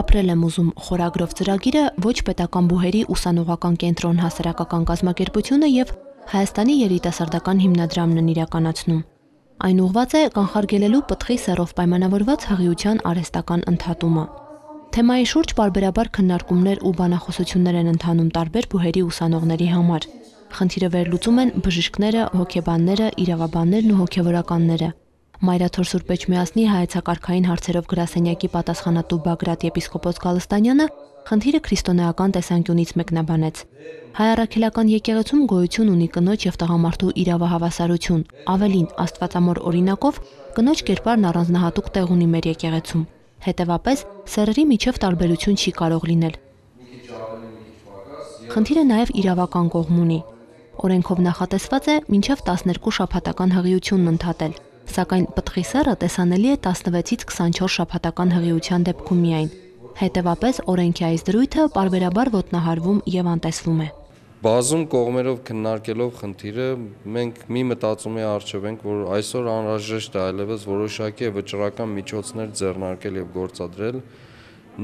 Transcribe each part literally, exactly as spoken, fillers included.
Ապրել եմ ուզում խորագրով ծրագիրը ոչ պետական բուհերի ուսանողական կենտրոն հասարակական կազմակերպությունը եւ Հայաստանի երիտասարդական հիմնադրամն են իրականացնում։ Այն ուղղված է կանխարգելելու պտղի սեռով պայմանավորված հղիության արհեստական ընդհատումը։ Թեմայի շուրջ պարբերաբար քննարկումներ ու բանախոսություններ են ընթանում տարբեր բուհերի ուսանողների համար։ Խնդիրը վերլուծում են բժիշկները, հոգեբանները, իրավաբաններն ու հոգեվորականները։ Մայրաթոր Սուրբ Էջմիածնի հայեցակարգային հարցերով գրասենյակի պատասխանատու Բագրատ եպիսկոպոս Գալստանյանը խնդիրը քրիստոնեական տեսանկյունից մեկնաբանեց։ Հայ առաքելական եկեղեցում գոյություն ունի կնոջ եւ տղամարդու իրավահավասարություն, ավելին աստվածամոր օրինակով կնոջ կերպարն առանձնահատուկ տեղ ունի մեր եկեղեցում։ Հետևաբար սեռերի միջև տարբերություն չի կարող լինել։ Խնդիրը նաեւ իրավական կողմ ունի։ Օրենքով նախատեսված է մինչև տասներկու շաբաթական հղիությունն ընդհատել, սակայն պտղի սեռը տեսանելի է տասնվեցից քսանչորս շաբաթական հղիության դեպքում միայն։ Հետևաբար օրենքի այս դրույթը պարբերաբար ոտնահարվում եւ անտեսվում է։ Բազում կողմերով քննարկելով խնդիրը մենք մի մտածումի առջև ենք, որ այսօր անհրաժեշտ է այլևս որոշակի վճռական միջոցներ ձեռնարկել եւ գործադրել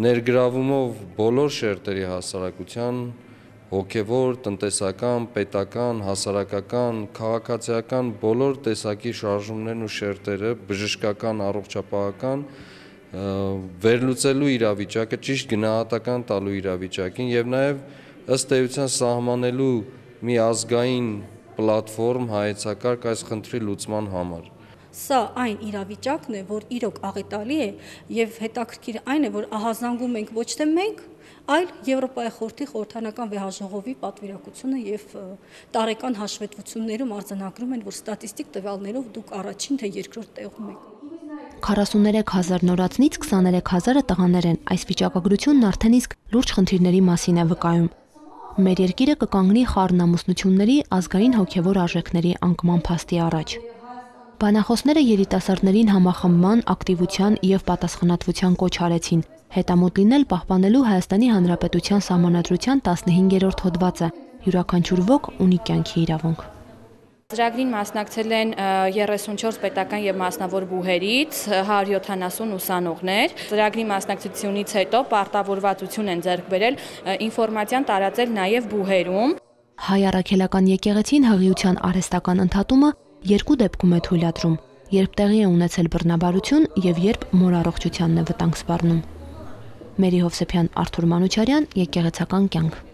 ներգրավումով բոլոր շերտերի հասարակության հոգևոր, տնտեսական, պետական, հասարակական, քաղաքացիական բոլոր տեսակի շարժումներն ու շերտերը, բժշկական, առողջապահական վերլուծելու իրավիճակը, ճիշտ գնահատական տալու իրավիճակին եւ նաեւ ըստ էության սահմանելու մի ազգային պլատֆորմ հայեցակարգ այս խնդրի լուծման համար։ Սա այն իրավիճակն է, որ իրոք աղետալի է եւ հետաքրքիր այն է, որ ահազանգում ենք ոչ թե մենք, այլ Եվրոպայի խորհրդի խորհրդանական վեհաժողովի պատվիրակությունը եւ տարեկան հաշվետվություններում արձանագրում են, որ ստատիստիկ տվյալներով դուք առաջին թե երկրորդ տեղում եք։ քառասուներեք հազար նորածնից քսաներեք հազարը տղաներ են։ Այս վիճակագրությունն արդեն իսկ լուրջ խնդիրների մասին է վկայում։ Մեր երկիրը կկանգնի խառն ամուսնությունների, ազգային հոգևոր արժեքների անկման փաստի առաջ։ Բանախոսները երիտասարդներին համախմբման, ակտիվության եւ պատասխանատվության կոչ արեցին, հետամուտ լինել պահպանելու Հայաստանի Հանրապետության Սահմանադրության տասնհինգերորդ հոդվածը՝ յուրաքանչյուր ոք ունի կյանքի իրավունք։ Ծրագրին մասնակցել են երեսունչորս պետական եւ մասնավոր բուհերից հարյուր յոթանասուն ուսանողներ։ Ծրագրի մասնակցությունից հետո պարտավորվածություն են ձեռք բերել ինֆորմացիան տարածել նաեւ բուհերում։ Հայ առաքելական եկեղեցին հղիության արհեստական ընդհատումը երկու դեպքում է թույլատրում՝ երբ տեղի է ունեցել բռնաբարություն եւ երբ մոր առողջությանն է վտանգ սպառնում։ Մերի Հովսեփյան, Արթուր Մանուչարյան, Եկեղեցական կյանք։